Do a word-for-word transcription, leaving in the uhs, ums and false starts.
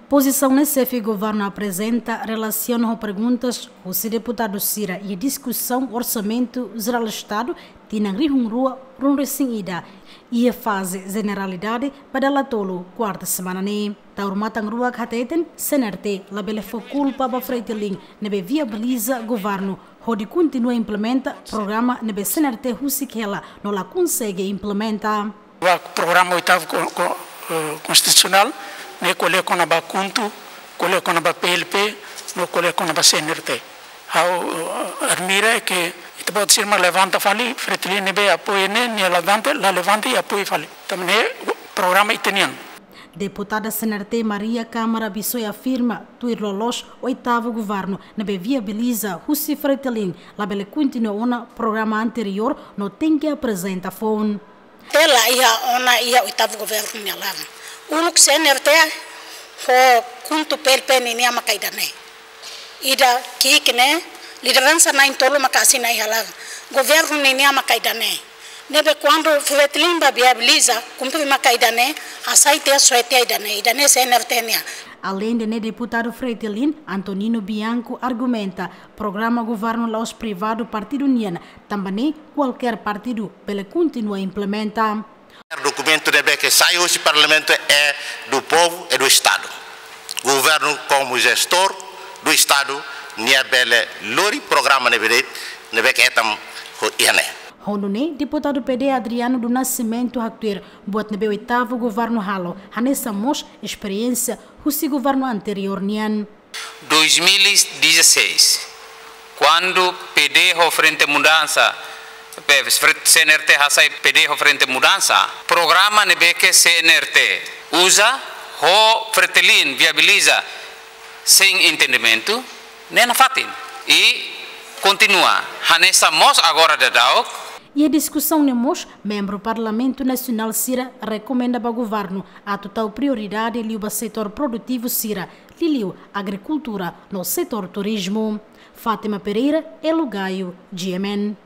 Pozisaun ne'e xefe governu aprezenta relasiona ho perguntas husi deputadu sira iha diskusaun Orsamentu Jerál Estadu tinan rihun rua ruanulu-resin-ida, iha faze jeneralidade ba dala tolu kuarta semana ne'e. Taur Matan Ruak hateten, C N R T labele fó kulpa ba Fretilin ne'ebé viabiliza governu hodi kontinua implementa programa ne'ebé C N R T husik hela no la konsege implementa. Ba programa oitavu ko-, ko-, eh, konstitusionál, ne'e ko'alia kona-ba KHUNTO, ko'alia kona-ba P L P, no ko'alia kona-ba C N R T. Ha'u, eh, admira ke ita-boot sira mak levanta fali, Fretilin ne'ebé apoia ne'e, nia levanta, la levanta i apoia fali. Tanba ne'e programa ita-nian. Deputada C N R T Maria Câmara Bissoy afirma, tuir loloos oitavu governu ne'ebé viabiliza husi Fretilin, labele kontinua ona programa anteriór no tenke aprezenta foun. Tela iha ona iha oitavu governu nia laran. Uluk C N R T ho KHUNTO, P L P ninia maka ida-ne'e. Ida ki'ik ne'e, lideransa na'in-tolu maka asina iha laran. Governu ninia maka ida-ne'e. Ne'ebé kuandu Fretilin bá viabiliza, kumpre maka ida-ne'e, hasai tiha, soe tiha ida-ne'e, ida-ne'e C N R T nian. Aleinde ne'e, deputadu Fretilin, Antonino Bianco, argumenta programa governu la'ós privadu partidu nian, tanba ne'e kualkér partidu bele kontinua implementa. Dokumentu ne'ebé ke sai husi Parlamentu é do povo, é do Estado. Governu, como gestor do Estado, nia bele lori programa ne'ebé de'it, ne'ebé ke hetan ho iha ne'e. Ho nune'e, deputadu P D Adriano do Nascimento haktuir buat ne'ebé oitavu governu halo hanesan mós esperiénsia husi governu anteriór nian. Dois mil e dezasseis, kuandu P D ho Frente Mudansa, pe-, Fre-, C N R T hasai P D ho Frente Mudansa, programa ne'ebé ke C N R T uza ho Fretilin viabiliza sein entendimentu, ne'e nafatin. I kontinua hanesan mós agora daudaun. Iha diskusaun ne'e mós, membru Parlamentu Nasionál sira rekomenda ba governu atu tau prioridade liu ba setór produtivu sira, liuliu agrikultura no setór turizmu. Fátima Pereira, Elo Gaio, G M N.